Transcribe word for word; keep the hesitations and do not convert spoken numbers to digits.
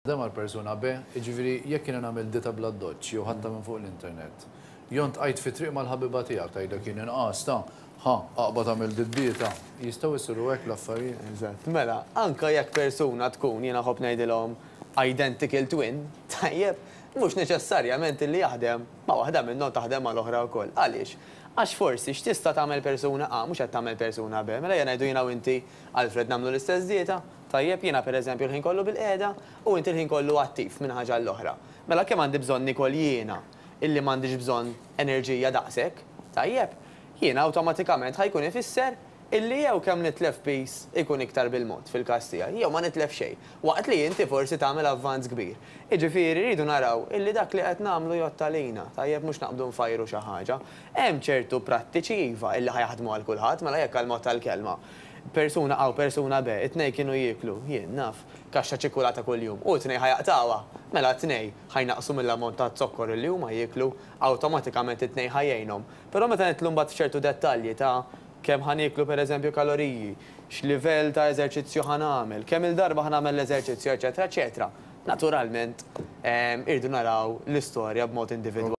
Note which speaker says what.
Speaker 1: Taħdem għal persuna B, jiġifieri jekk jiena nagħmel dieta bl-addoċċ jew ħadtha minn fuq l-internet. Jew ltqajt fi triq mal-ħabiba tiegħek tgħidlek jien inqas ta' ħa aqbad tagħmel dieta. Jistgħu jsiru hekk l-affarijiet.
Speaker 2: Eżatt. Mela, anka jekk persuna tkun, jiena nħobb ngħidilhom, identical twin, tajjeb, mhux neċessarjament li jaħdem ma' waħda minnhom taħdem mal-oħra wkoll. Għaliex? Għax forsi x'tista' tagħmel persuna A mhux qed tagħmel persuna B. Mela jien ngħidu jiena u inti, Alfred, nagħmlu l-istess dieta, tajjeb, jiena pereżempju l-ħin kollu bil-qiegħda u inti l-ħin kollu attiv minn ħaġa l-oħra. Mela kemm għandi bżonn nikol jiena illi m'għandix bżonn enerġija daqshekk, tajjeb, jiena awtomatikament ħa jkun ifisser illi jew kemm nitlef piż ikun iktar bil-mod fil-każ tiegħi, jew ma nitlef xejn, waqt li inti forsi tagħmel avvanz kbir. Jiġifieri rridu naraw illi dak li qed nagħmlu jgħodd għalina, tajjeb, mhux naqbdu nfajru xi ħaġa. Hemm ċertu prattiċi, iva, illi ħa jaħdmu għal kulħadd. Mela jekk għal mod tal-kelma persuna A u persuna B, it-tnejn kienu jieklu, jien naf, kaxxa ċikulata kuljum, u t-tnejn ħa jaqtgħuha, mela t-tnejn ħa jnaqqsu mill-ammont ta' zokkor li huma jieklu, awtomatikament it-tnejn ħa jgħinhom. Però meta nidħlu mbagħad f'ċertu dettalji ta' kemm ħa nieklu pereżempju kaloriji, x'livell ta' eżerċizzju ħa nagħmel, kemm il-darba ħa nagħmel l-eżerċizzju, eċetera, eċetera. Naturalment, irridu naraw l-istorja b'mod individwali.